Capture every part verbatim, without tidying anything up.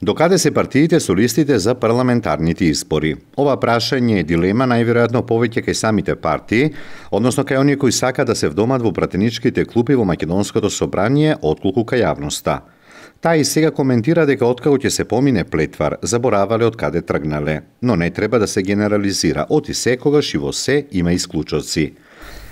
Докаде се партиите со листите за парламентарните избори? Ова прашање е дилема најверојатно повеќе кај самите партии, односно кај оние кои сака да се вдомат во пратеничките клупи во Македонското собрание, отколку кај јавноста. Таа и сега коментира дека откако ќе се помине плетвар, заборавале од каде тргнале, но не треба да се генерализира, оти секогаш и во се има исклучоци.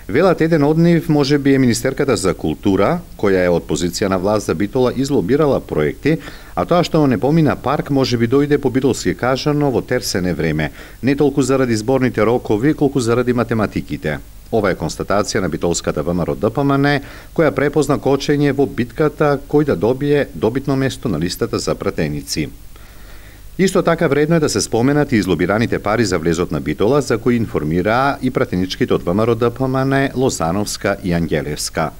Велат еден од нив може би е Министерката за култура, која е од позиција на власт за Битола излобирала проекти, а тоа што не помина парк може би дојде по битолски кажано во терсене време, не толку заради зборните рокови, колку заради математиките. Ова е констатација на битолската ВМРО Д П М Н, која препозна кочење во битката кој да добие добитно место на листата за пратеници. Исто така вредно е да се споменат и излобираните пари за влезот на Битола, за кои информираа и пратеничките од ВМРО Д П М Н, Лозановска и Ангелевска.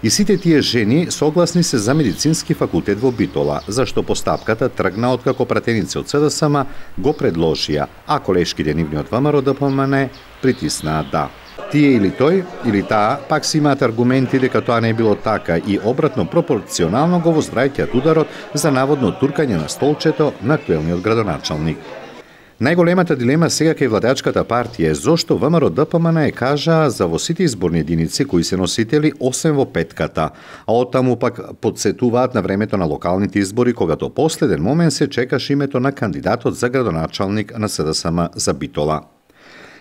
И сите тие жени согласни се за медицински факултет во Битола, зашто постапката тргна откако пратеници од С Д С М го предложија, а колешките нивни од ВМРО Д П М Н притиснаа да. Тие или тој, или таа, пак си имаат аргументи дека тоа не било така и обратно пропорционално го возвраќаат ударот за наводно туркање на столчето на актуелниот градоначалник. Најголемата дилема сега кај владеачката партија е зошто ВМРО Д П М Н е кажа за во сите изборни единици кои се носители осем во петката, а оттаму пак подсетуваат на времето на локалните избори кога до последен момент се чекаше името на кандидатот за градоначалник на С Д С М за Битола.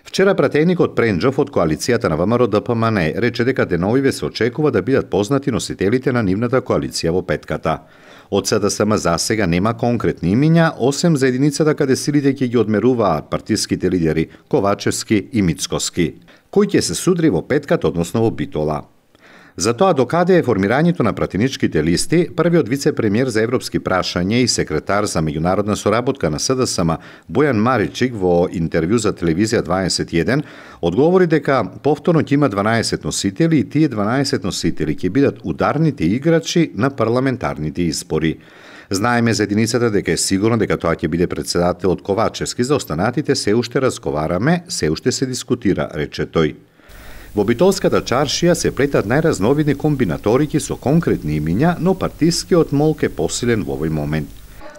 Вчера пратеникот Пренџов од коалицијата на ВМРО Д П М Н рече дека деновиве се очекува да бидат познати носителите на нивната коалиција во петката. Од С Д С М засега нема конкретни имиња, осем за единицата каде силите ќе ги одмеруваат партиските лидери Ковачевски и Мицкоски, кој ќе се судри во петката, односно во Битола. За тоа докаде е формирањето на пратеничките листи, првиот вице-премиер за европски прашања и секретар за меѓународна соработка на С Д С М Бојан Маричик во интервју за телевизија дваесет и еден одговори дека повторно ќе има дванаесет носители и тие дванаесет носители ќе бидат ударните играчи на парламентарните избори. Знаеме за единицата дека е сигурно дека тоа ќе биде председателот Ковачевски, за останатите се уште разговараме, се уште се дискутира, рече тој. Во битолската чаршија се плетат најразновидни комбинаторики со конкретни имиња, но партискиот молк е посилен во овој момент.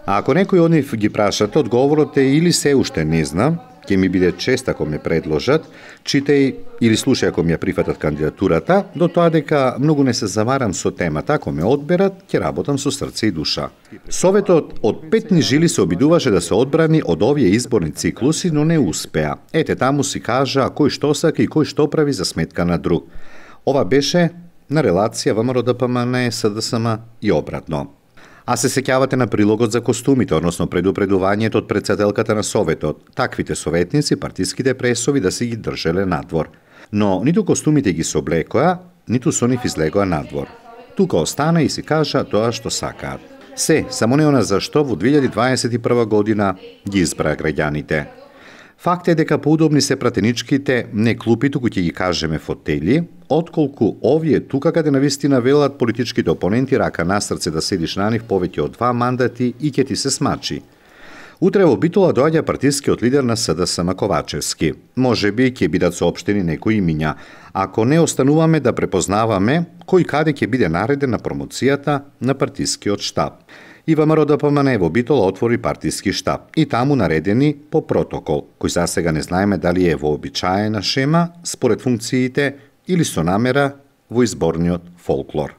А ако некој од нив ги прашате, одговорот е или се уште не знам, ќе ми биде чест ако ме предложат, читај или слушај ако ми ја прифатат кандидатурата, до тоа дека многу не се замарам со темата, ако ме одберат, ќе работам со срце и душа. Советот од петни жили се обидуваше да се одбрани од овие изборни циклуси, но не успеа. Ете таму си кажа кој што сака и кој што прави за сметка на друг. Ова беше на релација ВМРО Д П М Н, С Д С М и обратно. А се сеќавате на прилогот за костумите, односно предупредувањето од председателката на Советот, таквите советници партиските пресови да се ги држеле надвор. Но ниту костумите ги соблекоа, ниту со нив излегоа надвор. Тука остана и си кажа тоа што сакаат. Се, само не она зашто во две илјади дваесет и прва година ги избраа граѓаните. Факт е дека поудобни се пратеничките не клупи, туку ќе ги кажеме фотели, отколку овие тука каде навистина велат политичките опоненти рака на срце да седиш на нив повеќе од два мандати и ќе ти се смачи. Утре во Битола доаѓа партискиот лидер на С Д С М Ковачевски. Може би ќе бидат соопштени некои имиња, ако не остануваме да препознаваме кој каде ќе биде нареден на промоцијата на партискиот штаб. И ВМРО Д П М Н во Битола отвори партиски штаб и таму наредени по протокол, кој засега не знаеме дали е вообичаена шема според функциите или со намера во изборниот фолклор.